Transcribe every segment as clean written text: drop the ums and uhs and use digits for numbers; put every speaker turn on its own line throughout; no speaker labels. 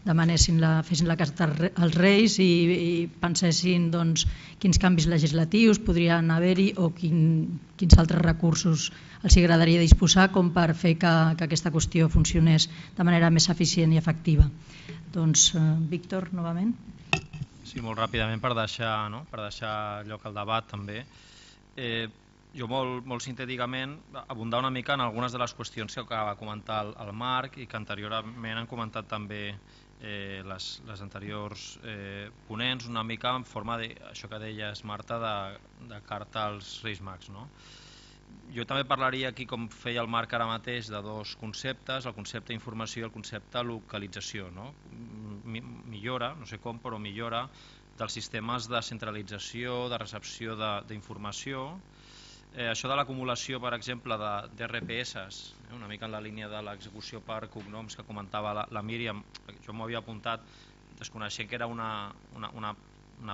demanessin fessin la carta als Reis i pensessin quins canvis legislatius podrien haver-hi o quins altres recursos els agradaria disposar com per fer que aquesta qüestió funcionés de manera més eficient i efectiva. Doncs, Víctor, novament.
Sí, molt ràpidament per deixar lloc al debat també. Jo molt sintèticament abundar una mica en algunes de les qüestions que acaba de comentar el Marc i que anteriorment han comentat també les anteriors ponents, una mica en forma d'això que deies, Marta, de carta als Reis Mags. Jo també parlaria aquí, com feia el Marc ara mateix, de dos conceptes, el concepte informació i el concepte localització. Millora, no sé com, però millora dels sistemes de centralització, de recepció d'informació. Això de l'acumulació, per exemple, d'RPS, una mica en la línia de l'execució per cognoms que comentava la Míriam, jo m'ho havia apuntat desconeixent que era una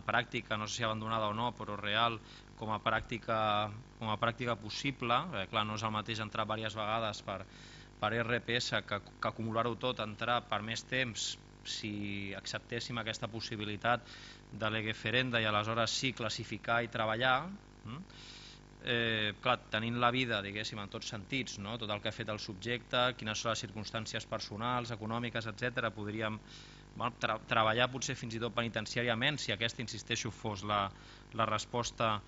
pràctica, no sé si abandonada o no, però real, com a pràctica possible. Clar, no és el mateix entrar diverses vegades per RPS que acumular-ho tot, entrar per més temps si acceptéssim aquesta possibilitat de lege ferenda i aleshores sí classificar i treballar. Clar, tenint la vida, diguéssim, en tots sentits, tot el que ha fet el subjecte, quines són les circumstàncies personals, econòmiques, etc., podríem treballar potser fins i tot penitenciàriament, si aquesta, insisteixo, fos la resposta,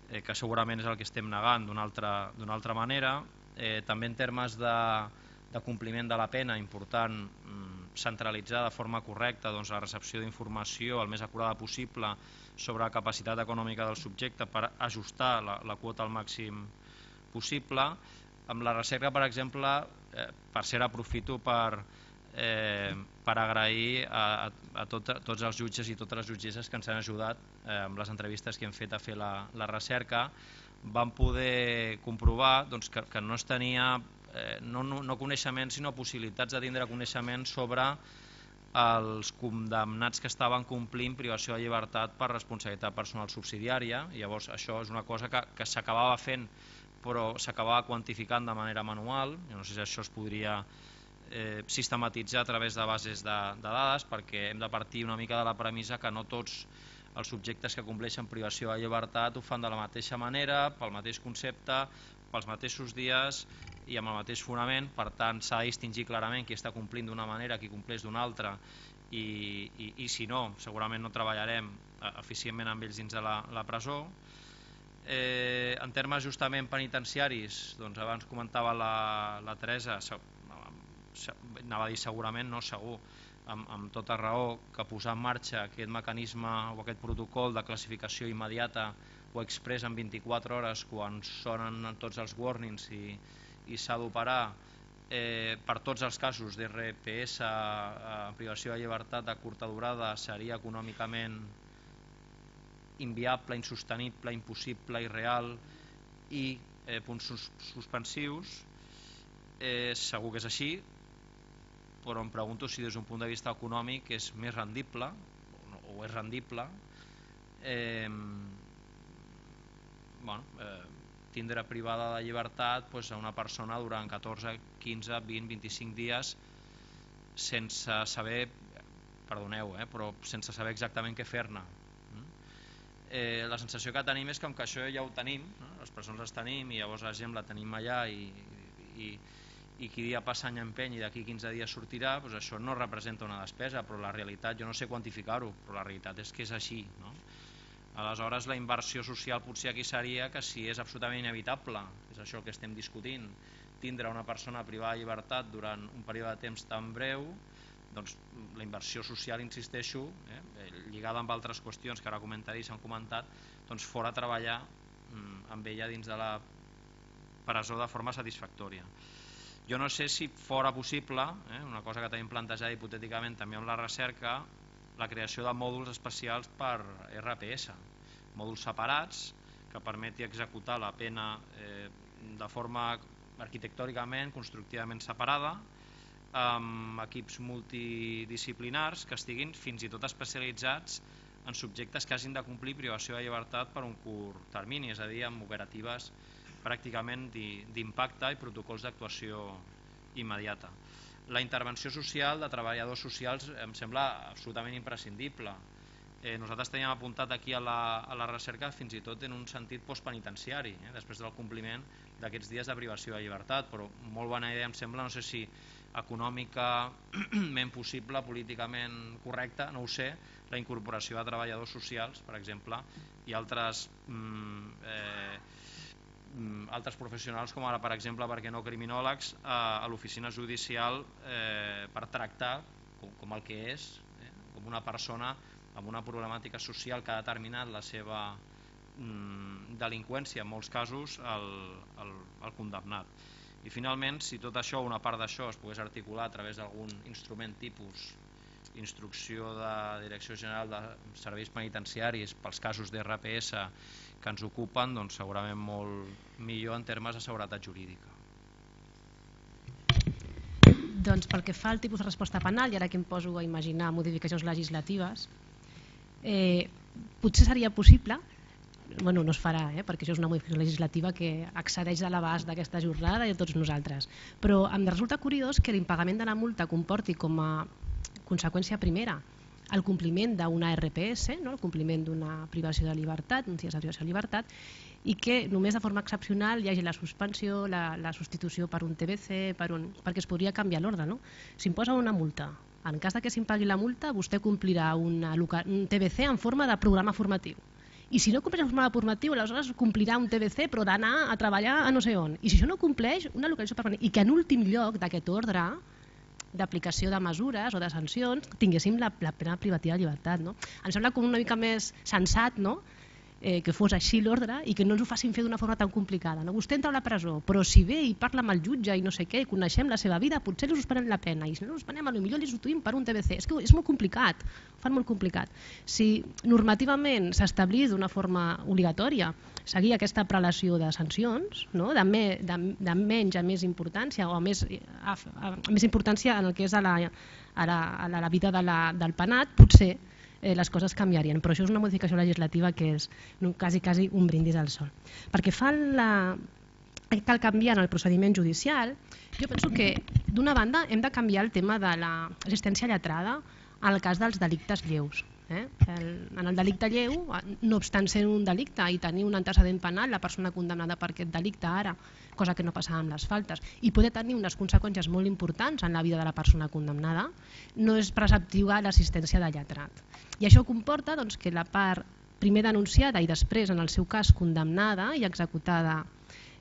que segurament és el que estem negant d'una altra manera. També en termes de compliment de la pena, important centralitzar de forma correcta la recepció d'informació el més acurada possible sobre la capacitat econòmica del subjecte per ajustar la quota al màxim possible. Amb la recerca, per exemple, per cert, aprofito per agrair a tots els jutges i totes les jutgesses que ens han ajudat amb les entrevistes que hem fet a fer la recerca. Vam poder comprovar que no es tenia no coneixements sinó possibilitats de tindre coneixement sobre els condemnats que estaven complint privació de llibertat per responsabilitat personal subsidiària. Llavors això és una cosa que s'acabava fent però s'acabava quantificant de manera manual. Jo no sé si això es podria sistematitzar a través de bases de dades, perquè hem de partir una mica de la premissa que no tots els subjectes que compleixen privació de llibertat ho fan de la mateixa manera, pel mateix concepte, pels mateixos dies i amb el mateix fonament. Per tant, s'ha de distingir clarament qui està complint d'una manera, qui compleix d'una altra, i si no, segurament no treballarem eficientment amb ells dins de la presó. En termes justament penitenciaris, abans comentava la Teresa, anava a dir segurament, no segur, amb tota raó, que posar en marxa aquest mecanisme o aquest protocol de classificació immediata o express en 24 hores quan sonen tots els warnings i s'ha d'operar per tots els casos d'RPS, privació de llibertat de curta durada, seria econòmicament inviable, insostenible, impossible, irreal i punts suspensius. Segur que és així, però em pregunto si des d'un punt de vista econòmic és més rendible o és rendible tindre privada de llibertat a una persona durant 14, 15, 20, 25 dies sense saber, perdoneu, però sense saber exactament què fer-ne. La sensació que tenim és que això ja ho tenim, les presons les tenim i llavors la gent la tenim allà i qui dia passa any empeny i d'aquí 15 dies sortirà, això no representa una despesa, però la realitat, jo no sé quantificar-ho, però la realitat és que és així. Aleshores la inversió social potser aquí seria que si és absolutament inevitable, és això el que estem discutint, tindre una persona privada de llibertat durant un període de temps tan breu, doncs la inversió social, insisteixo, lligada amb altres qüestions que ara comentaré i s'han comentat, doncs fora treballar amb ella dins de la presó de forma satisfactòria. Jo no sé si fora possible, una cosa que tenim plantejada hipotèticament també amb la recerca, la creació de mòduls especials per RPS, mòduls separats que permeti executar la pena de forma arquitectònicament, constructivament separada, amb equips multidisciplinars que estiguin fins i tot especialitzats en subjectes que hagin de complir privació de llibertat per un curt termini, és a dir, amb operatives pràcticament d'impacte i protocols d'actuació immediata. La intervenció social de treballadors socials em sembla absolutament imprescindible. Nosaltres teníem apuntat aquí a la recerca fins i tot en un sentit postpenitenciari, després del compliment d'aquests dies de privació de llibertat, però molt bona idea em sembla, no sé si econòmicament possible, políticament correcta, no ho sé, la incorporació de treballadors socials, per exemple, i altres professionals com ara, per exemple, perquè no criminòlegs, a l'oficina judicial per tractar com el que és, com una persona amb una problemàtica social que ha determinat la seva delinqüència, en molts casos, el condemnat. I finalment, si tot això, una part d'això, es pogués articular a través d'algun instrument tipus instrucció de Direcció General de Serveis Penitenciaris pels casos d'RPS que ens ocupen, doncs segurament molt millor en termes de seguretat jurídica.
Doncs pel que fa al tipus de resposta penal, i ara que em poso a imaginar modificacions legislatives, potser seria possible, no es farà, perquè això és una modificació legislativa que excedeix de l'abast d'aquesta jornada i de tots nosaltres, però em resulta curiós que l'impagament de la multa comporti com a conseqüència primera el compliment d'una RPS, el compliment d'una privació de llibertat, uns dies de privació de llibertat, i que només de forma excepcional hi hagi la suspensió, la substitució per un TBC, perquè es podria canviar l'ordre. S'imposa una multa. En cas que s'impagui la multa, vostè complirà un TBC en forma de programa formatiu. I si no compleix un programa formatiu, aleshores complirà un TBC però d'anar a treballar a no sé on. I si això no compleix, una localització permanent. I que en últim lloc d'aquest ordre d'aplicació de mesures o de sancions tinguéssim la pena privativa de llibertat. Em sembla com una mica més sensat que fos així l'ordre i que no ens ho facin fer d'una forma tan complicada. Vostè entra a la presó, però si ve i parla amb el jutge i no sé què, coneixem la seva vida, potser li suspenen la pena, i si no li suspenen, potser li substituïm per un TBC. És que és molt complicat, ho fan molt complicat. Si normativament s'establís d'una forma obligatòria seguir aquesta prelació de sancions, de menys a més importància o a més importància en el que és a la vida del penat, potser les coses canviarien, però això és una modificació legislativa que és quasi un brindis al sol. Perquè cal canviar en el procediment judicial, jo penso que d'una banda hem de canviar el tema de l'assistència lletrada en el cas dels delictes lleus. En el delicte lleu, no obstant ser un delicte i tenir un antecedent penal, la persona condemnada per aquest delicte ara, cosa que no passava amb les faltes, i poder tenir unes conseqüències molt importants en la vida de la persona condemnada, no és preceptiva l'assistència de lletrat. I això comporta que la part primer denunciada i després, en el seu cas, condemnada i executada,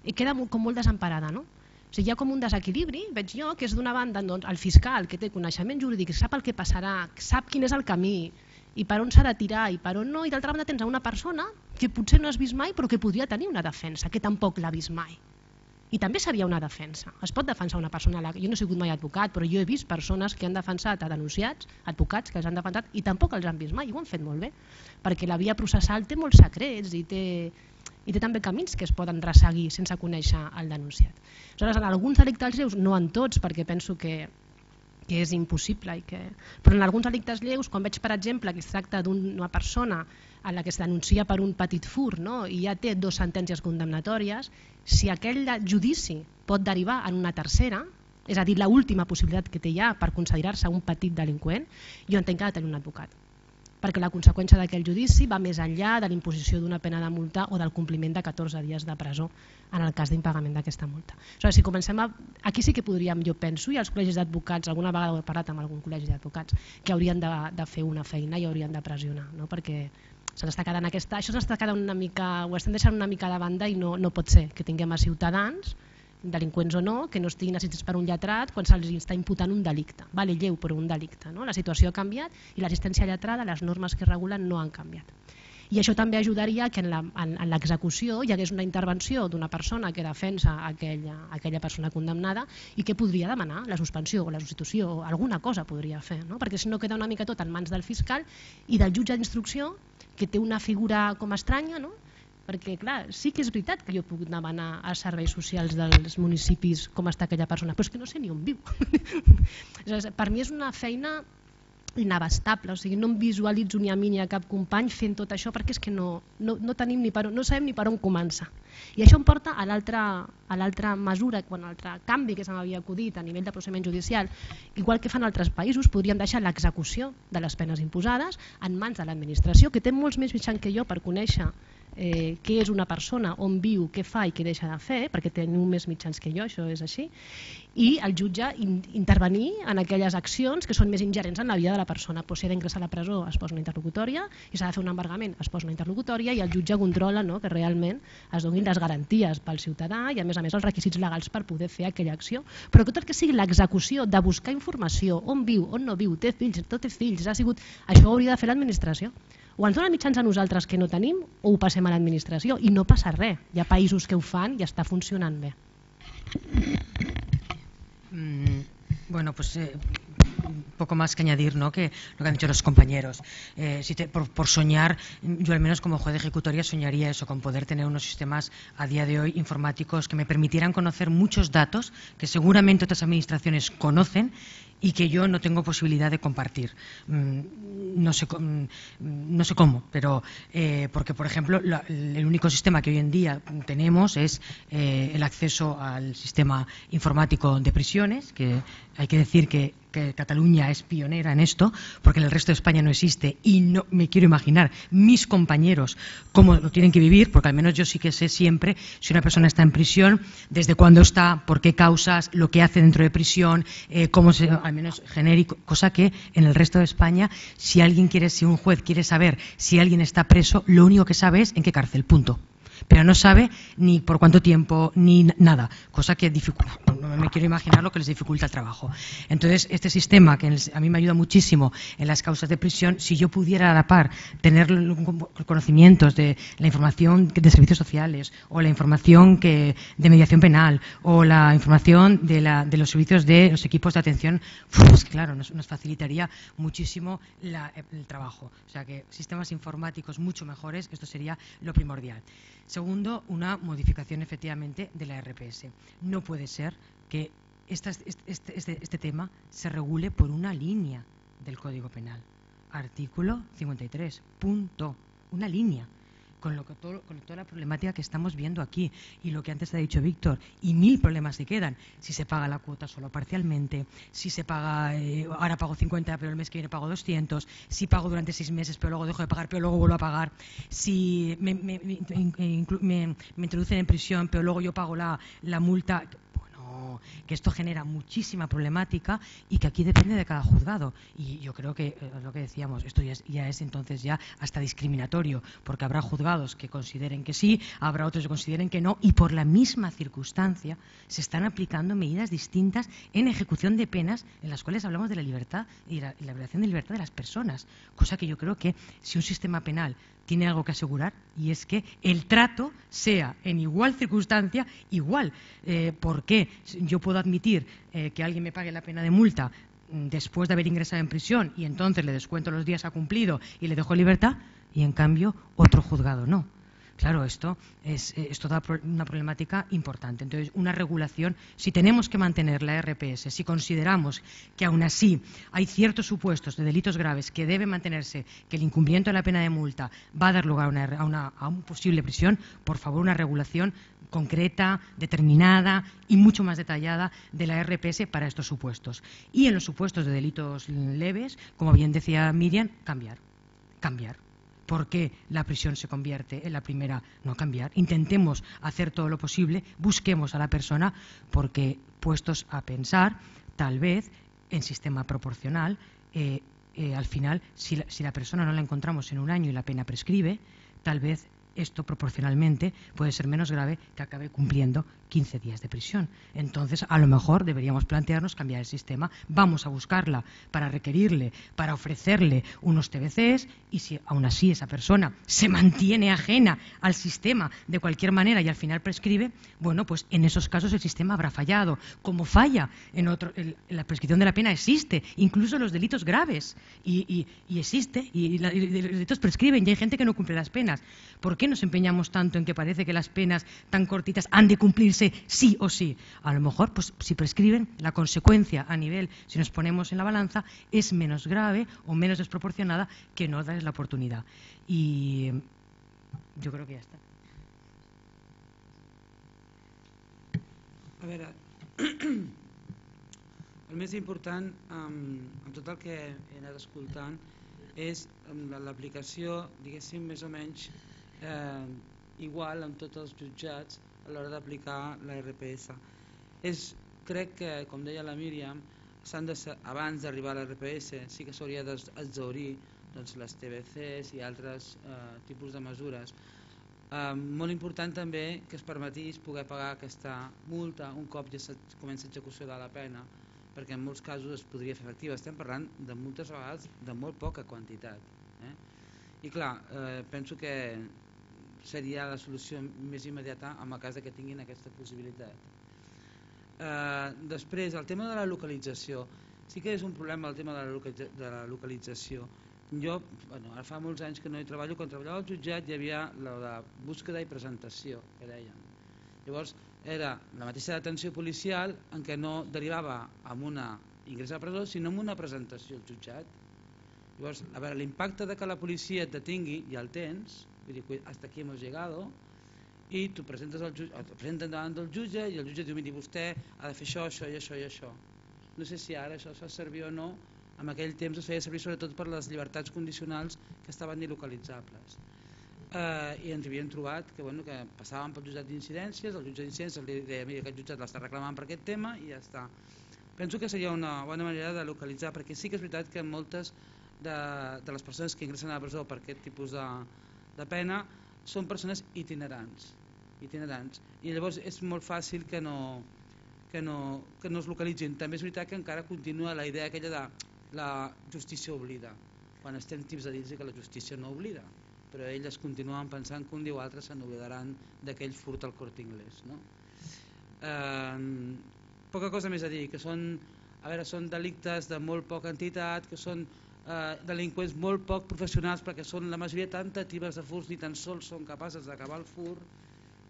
queda com molt desemparada, no? O sigui, hi ha com un desequilibri, veig jo, que és d'una banda el fiscal, que té coneixement jurídic, sap el que passarà, sap quin és el camí, i per on s'ha de tirar i per on no, i d'altra banda tens una persona que potser no has vist mai però que podria tenir una defensa, que tampoc l'ha vist mai. I també seria una defensa. Es pot defensar una persona, jo no he sigut mai advocat, però jo he vist persones que han defensat a denunciats, advocats que els han defensat i tampoc els han vist mai, i ho han fet molt bé, perquè la via processal té molts secrets i té també camins que es poden resseguir sense conèixer el denunciat. Aleshores, en alguns delictes lleus, no en tots, perquè penso que és impossible, però en alguns delictes lleus, quan veig per exemple que es tracta d'una persona a la que es denuncia per un petit furt i ja té 2 sentències condemnatòries, si aquell judici pot derivar en una tercera, és a dir, l'última possibilitat que té ja per considerar-se un petit delinqüent, jo entenc que ha de tenir un advocat, perquè la conseqüència d'aquell judici va més enllà de l'imposició d'una pena de multa o del compliment de 14 dies de presó en el cas d'impagament d'aquesta multa. Si comencem aquí sí que podríem, jo penso, i els col·legis d'advocats, alguna vegada ho he parlat amb algun col·legi d'advocats, que haurien de fer una feina i haurien de pressionar, perquè això s'està quedant una mica, ho estem deixant una mica de banda i no pot ser que tinguem a ciutadans, delinqüents o no, que no estiguin assistits per un lletrat quan se'ls està imputant un delicte, lleu però un delicte. La situació ha canviat i l'assistència lletrada, les normes que regulen no han canviat. I això també ajudaria que en l'execució hi hagués una intervenció d'una persona que defensa aquella persona condemnada i que podria demanar la suspensió o la substitució o alguna cosa podria fer, perquè si no queda una mica tot en mans del fiscal i del jutge d'instrucció, que té una figura com estranya, perquè clar, sí que és veritat que jo puc demanar als serveis socials dels municipis com està aquella persona, però és que no sé ni on viu. Per mi és una feina inabastable, o sigui, no em visualitzo ni a mi ni a cap company fent tot això perquè és que no tenim ni per on, no sabem ni per on començar. I això em porta a l'altra mesura, a l'altre canvi que se m'havia acudit a nivell de procediment judicial. Igual que fan altres països, podríem deixar l'execució de les penes imposades en mans de l'administració, que té molts més mitjans que jo per conèixer què és una persona, on viu, què fa i què deixa de fer, perquè teniu més mitjans que jo, això és així, i el jutge intervenir en aquelles accions que són més ingerents en la vida de la persona. Si ha d'ingressar a la presó es posa una interlocutòria, i s'ha de fer un embargament es posa una interlocutòria, i el jutge controla que realment es donin les garanties pel ciutadà i a més els requisits legals per poder fer aquella acció. Però tot el que sigui l'execució de buscar informació, on viu, on no viu, té fills, no té fills, això ho hauria de fer l'administració. O ens dona mitjans a nosaltres que no tenim o ho passem a l'administració i no passa res. Hi ha països que ho fan i està funcionant bé.
Bueno, pues poco más que añadir, ¿no?, que lo que han dicho los compañeros. Por soñar, yo al menos como juez de ejecutoria soñaría eso, con poder tener unos sistemas a día de hoy informáticos que me permitieran conocer muchos datos que seguramente otras administraciones conocen y que yo no tengo posibilidad de compartir. No sé cómo, pero porque, por ejemplo, el único sistema que hoy en día tenemos es el acceso al sistema informático de prisiones, que hay que decir que Cataluña es pionera en esto, porque en el resto de España no existe, y no me quiero imaginar mis compañeros cómo lo tienen que vivir, porque al menos yo sí que sé siempre si una persona está en prisión, desde cuándo está, por qué causas, lo que hace dentro de prisión, al menos genérico, cosa que en el resto de España, si un juez quiere saber si alguien está preso, lo único que sabe es en qué cárcel, punto. Pero no sabe ni por cuánto tiempo ni nada, cosa que dificulta, no me quiero imaginar lo que les dificulta el trabajo. Entonces, este sistema que a mí me ayuda muchísimo en las causas de prisión, si yo pudiera a la par tener conocimientos de la información de servicios sociales o la información de mediación penal o la información de los servicios de los equipos de atención, pues claro, nos facilitaría muchísimo el trabajo. O sea que sistemas informáticos mucho mejores, esto sería lo primordial. Segundo, una modificación efectivamente de la RPS. No puede ser que este tema se regule por una línea del Código Penal. Artículo 53, punto. Una línea. Con toda la problemática que estamos viendo aquí y lo que antes ha dicho Víctor, y 1000 problemas se quedan. Si se paga la cuota solo parcialmente, si se paga, ahora pago 50 pero el mes que viene pago 200, si pago durante 6 meses pero luego dejo de pagar pero luego vuelvo a pagar, si me introducen en prisión pero luego yo pago la multa. Que esto genera muchísima problemática y que aquí depende de cada juzgado, y yo creo que lo que decíamos, esto ya es entonces ya hasta discriminatorio, porque habrá juzgados que consideren que sí, habrá otros que consideren que no, y por la misma circunstancia se están aplicando medidas distintas en ejecución de penas en las cuales hablamos de la libertad y la violación de libertad de las personas, cosa que yo creo que si un sistema penal tiene algo que asegurar, y es que el trato sea en igual circunstancia igual. ¿Por qué? Yo puedo admitir que alguien me pague la pena de multa después de haber ingresado en prisión y entonces le descuento los días a cumplido y le dejo libertad, y en cambio otro juzgado no. Claro, esto es toda una problemática importante. Entonces, una regulación, si tenemos que mantener la RPS, si consideramos que aún así hay ciertos supuestos de delitos graves que debe mantenerse, que el incumplimiento de la pena de multa va a dar lugar a una posible prisión, por favor, una regulación concreta, determinada y mucho más detallada de la RPS para estos supuestos. Y en los supuestos de delitos leves, como bien decía Miriam, cambiar. ¿Por qué la prisión se convierte en la primera? No cambiar. Intentemos hacer todo lo posible, busquemos a la persona, porque puestos a pensar, tal vez en sistema proporcional, al final, si la persona no la encontramos en un año y la pena prescribe, tal vez esto proporcionalmente puede ser menos grave que acabe cumpliendo 15 días de prisión. Entonces, a lo mejor deberíamos plantearnos cambiar el sistema. Vamos a buscarla para requerirle, para ofrecerle unos TBCs, y si aún así esa persona se mantiene ajena al sistema de cualquier manera y al final prescribe, bueno, pues en esos casos el sistema habrá fallado. Como falla la prescripción de la pena existe, incluso los delitos graves, y existe, y los delitos prescriben y hay gente que no cumple las penas. ¿Por qué nos empeñamos tanto en que parece que las penas tan cortitas han de cumplirse sí o sí? A lo mejor, pues si prescriben, la consecuencia a nivel, si nos ponemos en la balanza, es menos grave o menos desproporcionada que no darles la oportunidad. Y yo creo que ja està.
A veure, el més important amb tot el que he anat escoltant és l'aplicació, diguéssim, més o menys igual amb tots els jutjats a l'hora d'aplicar la RPS. Crec que, com deia la Míriam, abans d'arribar a la RPS sí que s'hauria d'exhaurir les TBCs i altres tipus de mesures. Molt important també que es permetís poder pagar aquesta multa un cop ja comença l'execució de la pena, perquè en molts casos es podria fer efectiva. Estem parlant de multes a vegades de molt poca quantitat. I clar, penso que seria la solució més immediata en el cas que tinguin aquesta possibilitat. Després, el tema de la localització. Sí que és un problema el tema de la localització. Jo, ara fa molts anys que no hi treballo, quan treballava al jutjat hi havia la búsqueda i presentació, que deien. Llavors, era la mateixa detenció policial en què no derivava amb una ingrés a la presó, sinó amb una presentació al jutjat. Llavors, a veure, l'impacte de que la policia et detingui ja el tens, vull dir, hasta aquí hemos llegado, i tu presenten davant del jutge i el jutge diu, miri, vostè ha de fer això, això i això i això. No sé si ara això es fa servir o no. En aquell temps es feia servir sobretot per les llibertats condicionals que estaven ilocalitzables. I ens havíem trobat que passàvem pel jutjat d'incidències, el jutge d'incidències li deia, mira, aquest jutjat l'està reclamant per aquest tema i ja està. Penso que seria una bona manera de localitzar, perquè sí que és veritat que moltes de les persones que ingressen a la presó per aquest tipus de pena són persones itinerants. I llavors és molt fàcil que no es localitzin. També és veritat que encara continua la idea aquella de la justícia oblida, quan estem tips a dir que la justícia no oblida, però elles continuen pensant que un dia o altre se n'oblidaran d'aquell furt al Corte Inglés. Poca cosa més a dir, que són delictes de molt poca entitat, que són delinqüents molt poc professionals, perquè són la majoria tentatives de furts, ni tan sols són capaces d'acabar el furt.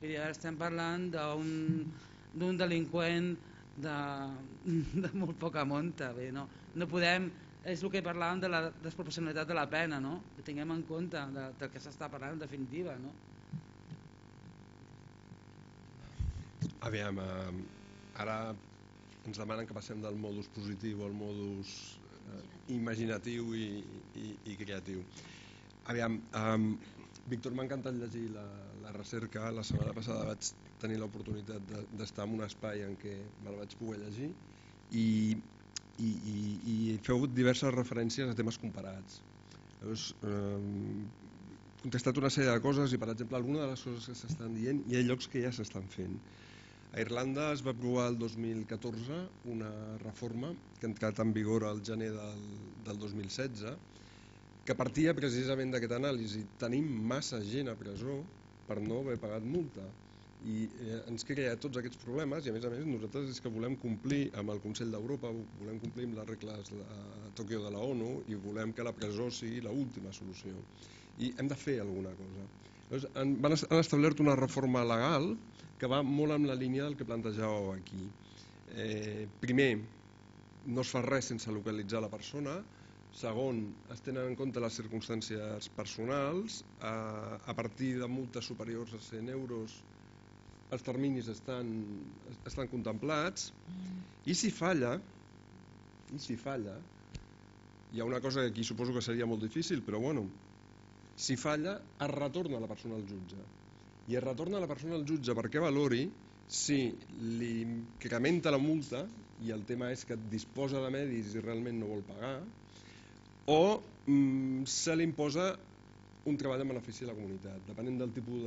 I ara estem parlant d'un delinqüent de molt poca monta. No podem, és el que parlàvem de la desproporcionalitat de la pena, que tinguem en compte del que s'està parlant en definitiva.
Aviam, ara ens demanen que passem del modus positiu al modus imaginatiu i creatiu. Aviam, Víctor, m'ha encantat llegir la recerca. La setmana passada vaig tenir l'oportunitat d'estar en un espai en què me la vaig poder llegir i feu diverses referències a temes comparats. Heu contestat una sèrie de coses i, per exemple, alguna de les coses que s'estan dient hi ha llocs que ja s'estan fent. A Irlanda es va aprovar el 2014 una reforma que ha entrat en vigor al gener del 2016 que partia precisament d'aquesta anàlisi. Tenim massa gent a presó per no haver pagat multa i ens crea tots aquests problemes i a més nosaltres és que volem complir amb el Consell d'Europa, volem complir amb les regles de Tòquio de la ONU i volem que la presó sigui l'última solució i hem de fer alguna cosa. Han establert una reforma legal que va molt en la línia del que plantejàveu aquí. Primer, no es fa res sense localitzar la persona. Segon, es tenen en compte les circumstàncies personals. A partir de multes superiors a 100 euros els terminis estan contemplats i si falla, hi ha una cosa que aquí suposo que seria molt difícil, però bueno, si falla es retorna la persona al jutge i es retorna la persona al jutge perquè valori si li incrementa la multa i el tema és que disposa de medis i realment no vol pagar o se li imposa un treball en benefici de la comunitat. Depenent del tipus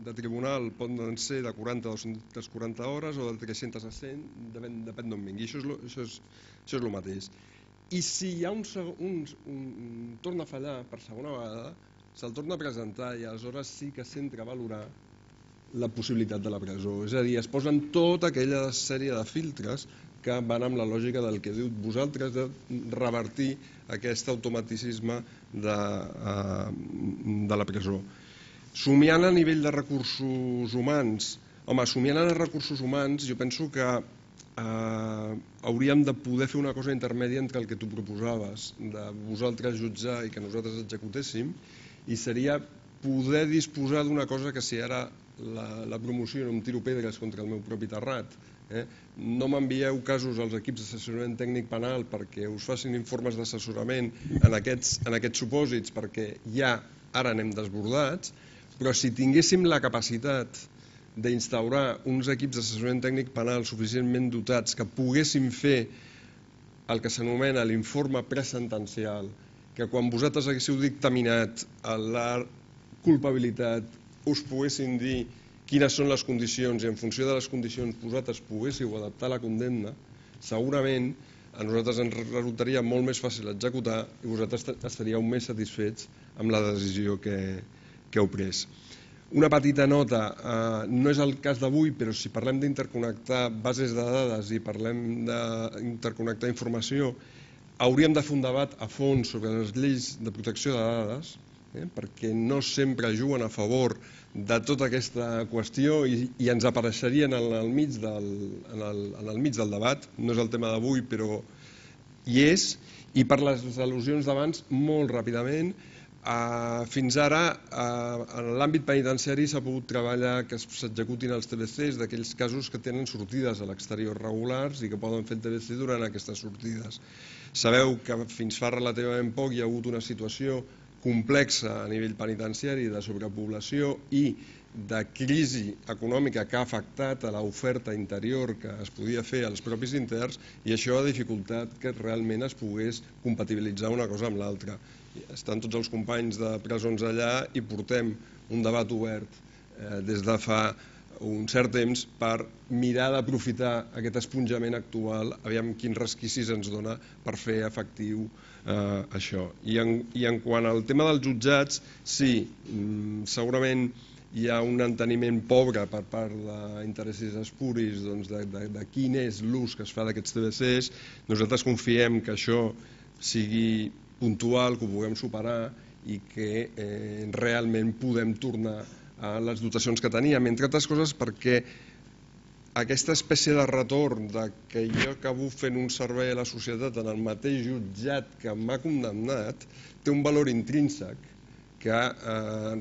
de tribunal poden ser de 40 a 240 hores o de 300 a 100, depèn d'on vingui. Això és el mateix. I si hi ha un torna a fallar per segona vegada, se'l torna a presentar i aleshores sí que s'entra a valorar la possibilitat de la presó. És a dir, es posen tota aquella sèrie de filtres que van amb la lògica del que diu vosaltres de revertir aquest automaticisme de la presó. Somiant a nivell de recursos humans, home, somiant en els recursos humans, jo penso que hauríem de poder fer una cosa intermèdia entre el que tu proposaves, de vosaltres jutjar i que nosaltres executéssim, i seria poder disposar d'una cosa que si ara la promoció no em tiro pedres contra el meu propi terrat, no m'envieu casos als equips d'assessorament tècnic penal perquè us facin informes d'assessorament en aquests supòsits, perquè ja ara anem desbordats, però si tinguéssim la capacitat d'instaurar uns equips d'assessorament tècnic penal suficientment dotats que poguessin fer el que s'anomena l'informe presentencial, que quan vosaltres haguéssiu dictaminat la culpabilitat us poguessin dir quines són les condicions i en funció de les condicions vosaltres poguéssiu adaptar la condemna, segurament a nosaltres ens resultaria molt més fàcil executar i vosaltres estaríeu més satisfets amb la decisió que heu pres. Una petita nota, no és el cas d'avui, però si parlem d'interconnectar bases de dades i parlem d'interconnectar informació, hauríem de fer un debat a fons sobre les lleis de protecció de dades, perquè no sempre juguen a favor de tota aquesta qüestió i ens apareixerien en el mig del debat. No és el tema d'avui, però hi és. I per les al·lusions d'abans, molt ràpidament, fins ara en l'àmbit penitenciari s'ha pogut treballar que s'executin els TBCs d'aquells casos que tenen sortides a l'exterior regulars i que poden fer el TBC durant aquestes sortides. Sabeu que fins fa relativament poc hi ha hagut una situació complexa a nivell penitenciari de sobrepoblació i de crisi econòmica que ha afectat a l'oferta interior que es podia fer als propis interns i això ha dificultat que realment es pogués compatibilitzar una cosa amb l'altra. Estan tots els companys de presons allà i portem un debat obert des de fa un cert temps per mirar d'aprofitar aquest esponjament actual, aviam quins resquicis ens dona per fer efectiu això. I en quant al tema dels jutjats, sí, segurament hi ha un enteniment pobre per part d'interessos espuris de quin és l'ús que es fa d'aquests TBCs. Nosaltres confiem que això sigui puntual, que ho puguem superar i que realment podem tornar a les dotacions que teníem, entre altres coses perquè aquesta espècie de retorn que jo acabo fent un servei a la societat en el mateix jutjat que m'ha condemnat té un valor intrínsec que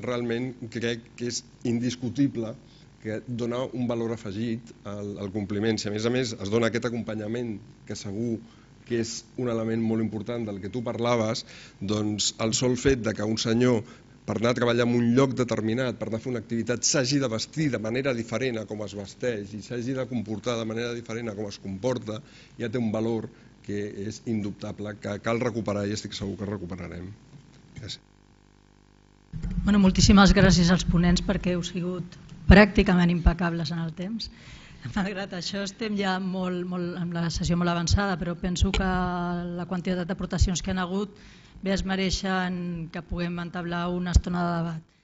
realment crec que és indiscutible, que dona un valor afegit al compliment. Si a més es dona aquest acompanyament que segur que és un element molt important del que tu parlaves, doncs el sol fet que un senyor per anar a treballar en un lloc determinat, per anar a fer una activitat, s'hagi de vestir de manera diferent a com es vesteix i s'hagi de comportar de manera diferent a com es comporta, ja té un valor que és indubtable, que cal recuperar i estic segur que recuperarem. Gràcies.
Moltíssimes gràcies als ponents perquè heu sigut pràcticament impecables en el temps. Malgrat això estem ja amb la sessió molt avançada, però penso que la quantitat d'aportacions que han hagut bé es mereixen que puguem entablar una estona de debat.